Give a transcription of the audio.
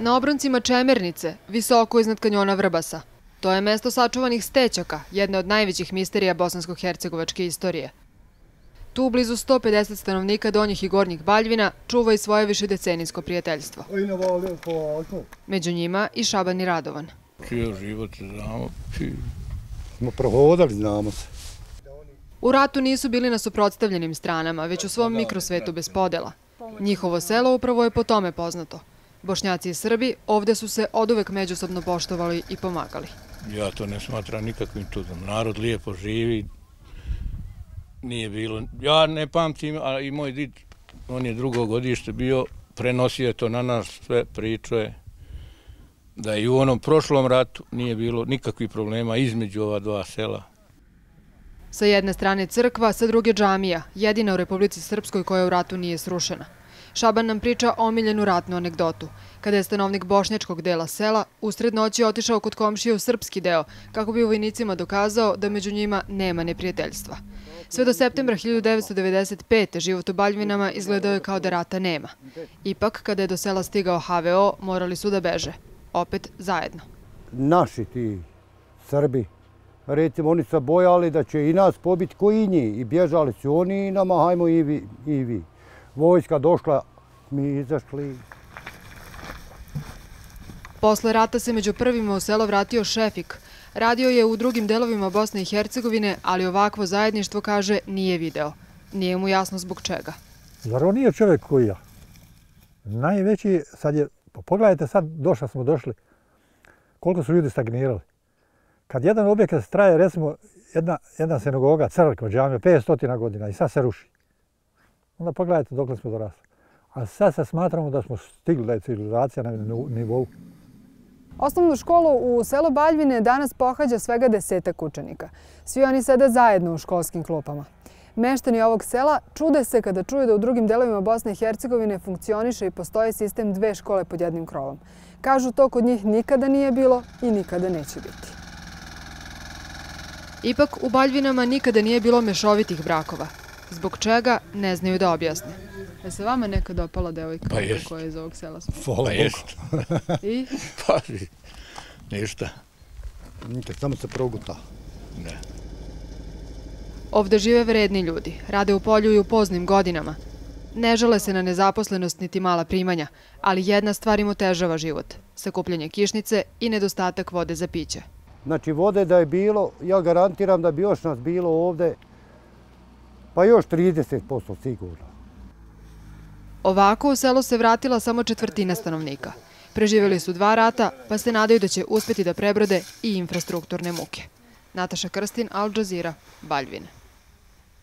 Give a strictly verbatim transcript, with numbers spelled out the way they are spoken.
Na obroncima Čemernice, visoko iznad kanjona Vrbasa. To je mesto sačuvanih stećaka, jedna od najvećih misterija bosansko-hercegovačke istorije. Tu, blizu sto pedeset stanovnika Donjih i Gornjih Baljvina, čuva i svoje višedecenijsko prijateljstvo. Među njima i Šaban i Radovan. Čio život znamo. Smo prohodali, znamo se. U ratu nisu bili na suprotstavljenim stranama, već u svom mikrosvetu bez podela. Njihovo selo upravo je po tome poznato. Bošnjaci i Srbi ovde su se oduvek međusobno poštovali i pomagali. Ja to ne smatram nikakvim čudom. Narod lijepo živi. Nije bilo... Ja ne pamtim, a i moj did, on je drugo godište bio, prenosio je to na nas, sve pričuje da i u onom prošlom ratu nije bilo nikakvih problema između ova dva sela. Sa jedne strane crkva, sa druge džamija, jedina u Republici Srpskoj koja u ratu nije srušena. Šaban nam priča omiljenu ratnu anegdotu. Kada je stanovnik bošnjačkog dela sela usred noći otišao kod komšije u srpski deo, kako bi vojnicima dokazao da među njima nema neprijateljstva. Sve do septembra hiljadu devetsto devedeset pete. život u Baljvinama izgledao je kao da rata nema. Ipak, kada je do sela stigao ha ve o, morali su da beže. Opet zajedno. Naši ti Srbi, recimo, oni su bojali da će i nas pobiti koji njih i bježali su oni i nama, hajmo i vi. I vi. Vojska došla, mi izašli. Posle rata se među prvima u selo vratio Šefik. Radio je u drugim delovima Bosne i Hercegovine, ali ovakvo zajedništvo, kaže, nije video. Nije mu jasno zbog čega. Zar on nije čovjek koji ja? Najveći, sad je, pogledajte sad, došli smo došli, koliko su ljudi stagnirali. Kad jedan objekat traje, recimo, jedna, jedna sinagoga, crkva, džamija, petsto godina i sad se ruši. Onda pogledajte dokle smo dorasli. A sad se smatramo da smo stigli, da je civilizacija na nivou. Osnovnu školu u selu Baljvine danas pohađa svega desetak učenika. Svi oni sede zajedno u školskim klupama. Meštani ovog sela čude se kada čuju da u drugim delovima Bosne i Hercegovine funkcioniše i postoji sistem dve škole pod jednim krovom. Kažu, to kod njih nikada nije bilo i nikada neće biti. Ipak u Baljvinama nikada nije bilo mešovitih brakova. Zbog čega, ne znaju da objasne. Je se vama nekad dopala devojka koja je iz ovog sela? Pa jest. I? Pa ništa. Nikad, samo se proguta. Ne. Ovde žive vredni ljudi, rade u polju i u poznim godinama. Ne žale se na nezaposlenost niti mala primanja, ali jedna stvar im otežava život. Sakupljanje kišnice i nedostatak vode za piće. Znači, vode da je bilo, ja garantiram da bi još nas bilo ovde, pa još trideset posto sigurno. Ovako u selo se vratila samo četvrtina stanovnika. Preživjeli su dva rata, pa se nadaju da će uspjeti da prebrode i infrastrukturne muke. Nataša Krstin, Al Jazeera, Baljvine.